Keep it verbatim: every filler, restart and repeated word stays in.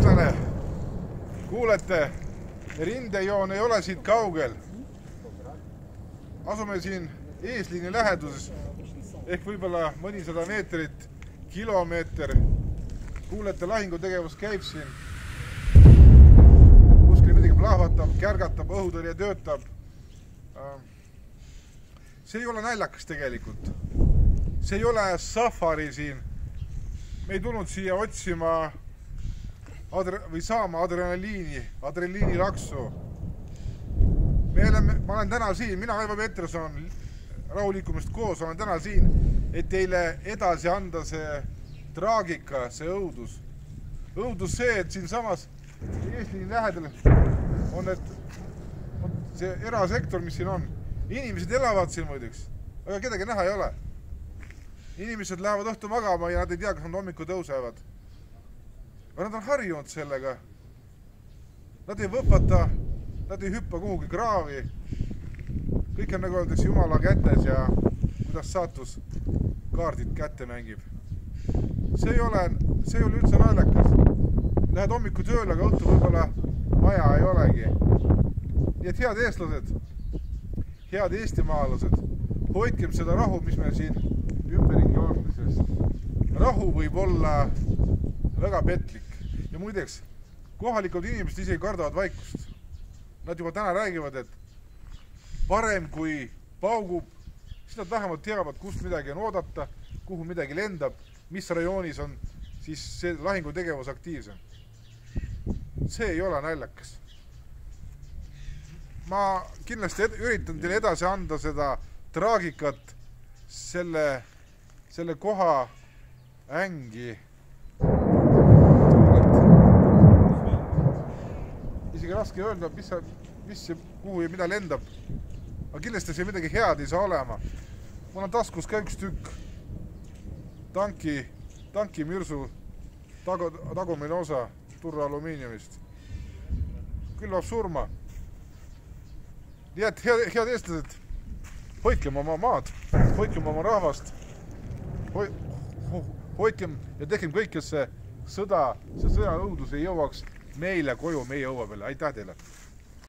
eestlane, kuulete, rindejoon ei ole siit kaugel. Asume siin eesliini läheduses ehk võib-olla mõnisada meetrit, kilomeeter. Kuulete, lahingutegevus käib siin. Kuskil midagi plahvatab, kärgatab, õhutõrje töötab. See ei ole naljakas tegelikult. See ei ole safari siin. Me ei tulnud siia otsima või saama adrenaliini, adrenaliini laksu. Me oleme, ma olen täna siin, mina Aivo Peterson, rahulikumist koos, olen täna siin, et teile edasi anda see traagika, see õudus. Õudus see, et siin samas eesliini lähedal on et, on see erasektor, mis siin on. Inimesed elavad siin muideks, aga kedagi näha ei ole. Inimesed lähevad õhtu magama ja nad ei tea, kas nad hommiku tõusevad. Aga nad on harjunud sellega. Nad ei võpata, nad ei hüppa kuhugi kraavi. Kõik on nagu öeldakse Jumala kätes ja kuidas saatus kaardid kätte mängib. See ei ole, see ei ole üldse naljakas. Lähed hommiku tööle, aga õhtu võib-olla maja ei olegi. Nii et head eestlased, head eestimaalased, hoidkem seda rahu, mis meil siin ümberringi on, sest rahu võib olla väga petlik. Ja muideks, kohalikud inimesed isegi kardavad vaikust. Nad juba täna räägivad, et parem kui paugub, siis nad vähemalt teavad, kust midagi on oodata, kuhu midagi lendab, mis rajoonis on siis see lahingutegevus aktiivsem. See ei ole naljakas. Ma kindlasti üritan teile edasi anda seda traagikat, selle, selle koha ängi. Isegi raske öelda, mis, mis see, kuhu ja mida lendab. Aga kindlasti see midagi head ei saa olema. Mul on taskus ka üks tükk tanki, tanki mürsu tagu, tagumine osa turra alumiiniumist. Külvab surma. Nii et head, head eestlased, hoidkem oma maad, hoidkem oma rahvast, hoidkem ja tehkem kõik, kes see sõda, see sõja õudus ei jõuaks meile koju, meie õua peale. Aitäh teile!